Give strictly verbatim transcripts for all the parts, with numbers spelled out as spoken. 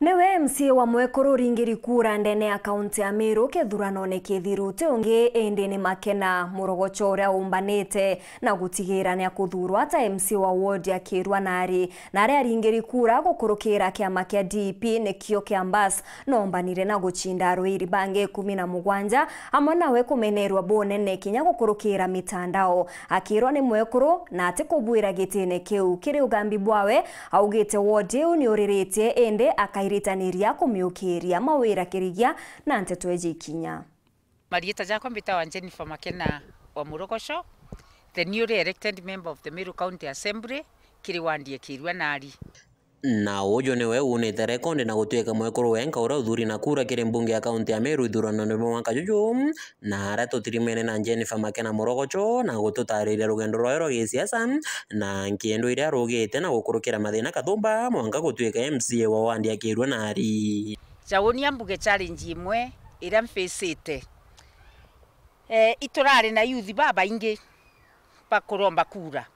Niwe M C A wa mwekuru uringiri kura ndene ya kaunti ya Meru kithuranone kithiru ti ungi indi ni Makena Murogocho uria umbanite na gutigira ni akuthurwa ta M C A wa ward ya Kirua Nari. Na aria aringiri kura gukurukira kiama kia D P nikio kia Mbas, nombanire na gucinda arwiri bangi ikumi na mugwanja amwe nawe kumenerwa bunene kinya gukurukira mitandao. Akirwa ni mwekuru na atikubwira gitine kiu kiri ugambi bwawe, augite ward iu ni uriritie indi akairitaniria kumiukiria mawira kirigia na nteto eji ikinya. Marieta jakwa mbitawa Jennifer Makena wa Murogocho, the newly elected member of the Meru County Assembly kiri ward ya Kirua Nari. Na uju niwe uunite rekondi na gutuika mwekuru wenka uria uthuri na kura kiri mbunge ya kaunti ya Meru ithuranone bwa mwaka juju, na aria tutirimene na Jennifer Makena Murogocho na gututariria rugendo rwawe rwa gisiasa na nkindu iria arugite na gukurukira mathina kathumba mwanka gutuika M C A wa ward ya Kirua Nari. Jauni ambuge challenge imwe iria mfacite. Eh, iturari na youth babaingi bakuromba kura.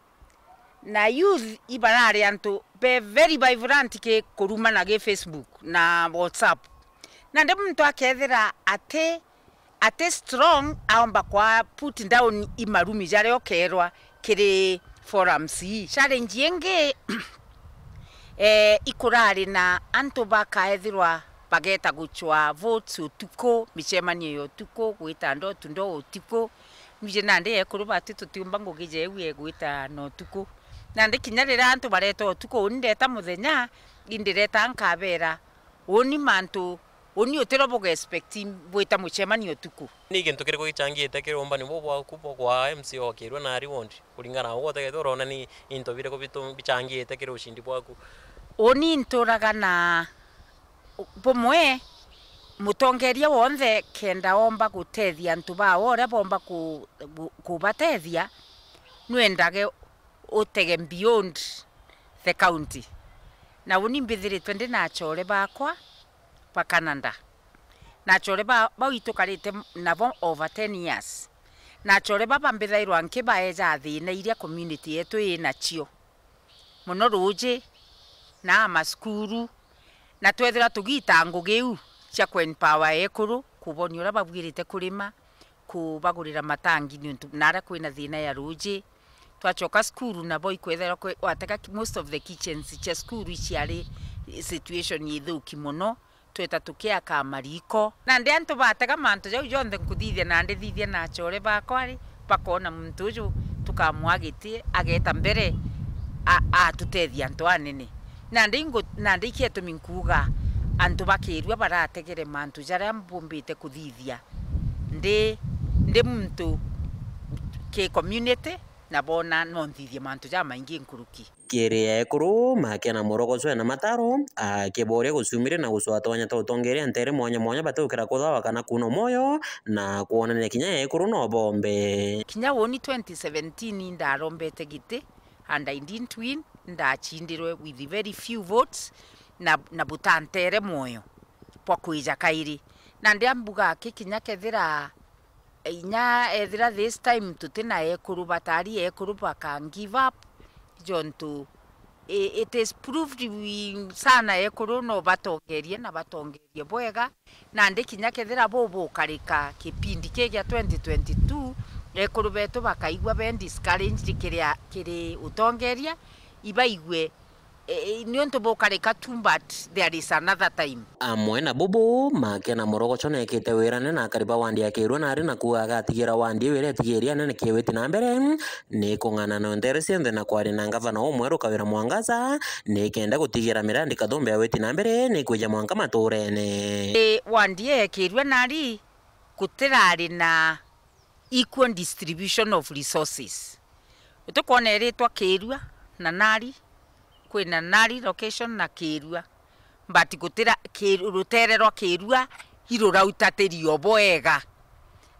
Na youth ibarari antu be very vibrant ki kuruma na gi Facebook na WhatsApp. Nandi muntu akethira ati, ati strong, aomba kwa put down i marumi jaria ukerwa kiri forums ii. Challenge ingi, eh, ikurari na antu bakaethirwa bageta gucwa votes utuku, micemanio ya utuku, gwita door to door utuku. Nwije nandi ekuru bati tutiumba ngugi jeu egwita na utuku. Nandi kinya riria antu bareta utuku, uni ndeta muthenya, indireta nkabera, uni mantu, uni utiro buga expect bwita mucemanio utuku. Ni gintu kiriku gicangite kiri umbani buu bwaku bwa kwa M C A wa Kirua Nari ward, kuringana na ugwe utegete urona ni into biriku bitu-, bicangite kiri ucindi bwaku? Uni nturaga na bumwe, mutongeria wonthe kenda omba gutethia antu bawe uria bomba ku-, ku-, kubatethia, nwendage utege beyond the county. Na uni mbithiritwe ndi na achore bakwa ba Canada. Na achore ba-, bau itukarite nabo over ten years. Na achore baba mbithairwa nkibaeja thina iria community yetu inacio. Mono ruuji, na masukuru, na twethira tugiita ngugi iu cia ku empower ekuru, kubonia uria babwirite kurima, kubagurira matangi niuntu naria kwina thina ya ruuji. Twacoka cukuru nabo ikwethirwa kwe-, watega ki-, most of the kitchens cia cukuru iciari situation ithuki mono. Tweta tukiaka mariko. Nandi antu batega mantu jau jonthe nkuthithia, nandi thithia na achore bakwa ri, bakona muntu uju tukamwa giti, ageta mbere, a-, atutethia antu anene. Nandi ingu-, nandi ikio itumi nkuuga, antu ba Kirua barategere mantu jaria mbumbite kuthithia ndi, ndi muntu ki community, na bona no nthithie mantu jamaingi nkuruki. Kiri ekuru, Makena Murogocho ena mataro, akiboria guciumiria na gucwatwanya ta utongeria ntere mwanya mwanya batiukira kuthawa kana kuuna mwoyo, na kwonania kinya ekuru no bombe. Kinya uni twenty seventeen ndarombete giti, and I didn't win, ndacindirwe with very few votes, na, na butantere mwoyo bwa kwija kairi. Na ndiambuga aki kinya kethira inya ethira this time tutina ekuru, batari ekuru baka give up, jontu i-, it is proved we sana ekuru no batongerie na batongerie bwega. Nandi kinya kethira bubukarika kipindi ki gia twenty twenty-two, ekuru betu bakaigua be discouraged kiri a-, kiri utongeria, ibaigue E, e, niuntu bukarika tu, but there is another time. Amwe na bubu, Makena Murogocho neekite wirane na akari ba wandi ya Kirua nari na kuuga agatigira wandi iu iria itigiria anene kiwiti na mbere, ni kung'ana na ntere cionthe na kwaria na ngavana umweru Kawira Mwangaza, ni kenda gutigira mirandi kathumbe ya witi na mbere ni kwija mwanka maturene. E, wandi ya Kirua nari gutirari na equal distribution of resources. Utikwona iritwa Kirua na nari, kwina nari location na Kirua, but gutira Ki-, rutere rwa Kirua irurautatirio bwega.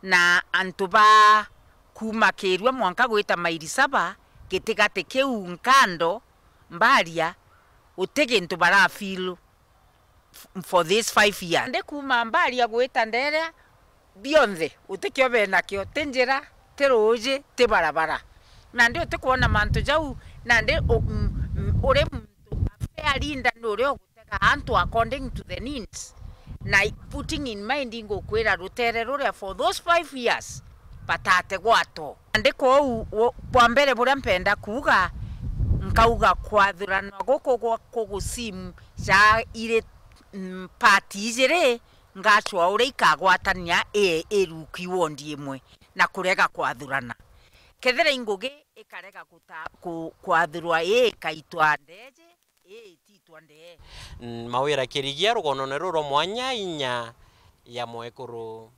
Na antu ba kuuma Kirua mwanka gwita mairi saba, gitigati kiu nkando, Mbaria, uti gintu bara feel f-, for these five years. Ndi kuuma Mbaria gwita Nderea, bionthe, utikio benakio, ti njira, ti ruuji, ti barabara. Nandi utikwona mantu jau, nandi u-, m-, m-, uri muntu a fair leader ni uria ugutega kuthondeka antu according to the needs. Na putting in mind, ngukwira rutere ruria for those five years batate gwato. Andiko uu, u-, bwa mbere buria mpenda kuuga, nkauga kwathuranwa guku gwa kugusimu ja iri, mm, part ijiri, ngacua uria ikagwatania ii iruki wondi imwe na kurega kwathurana. Kethira i ngugi ikarega guta-, ku-, kwathurwa ii ikaitwa ndeeji, ii ititwa ndee. Mm, Mawira Kirigia rugonone ruru rwa mwanya inya ya mwekuru.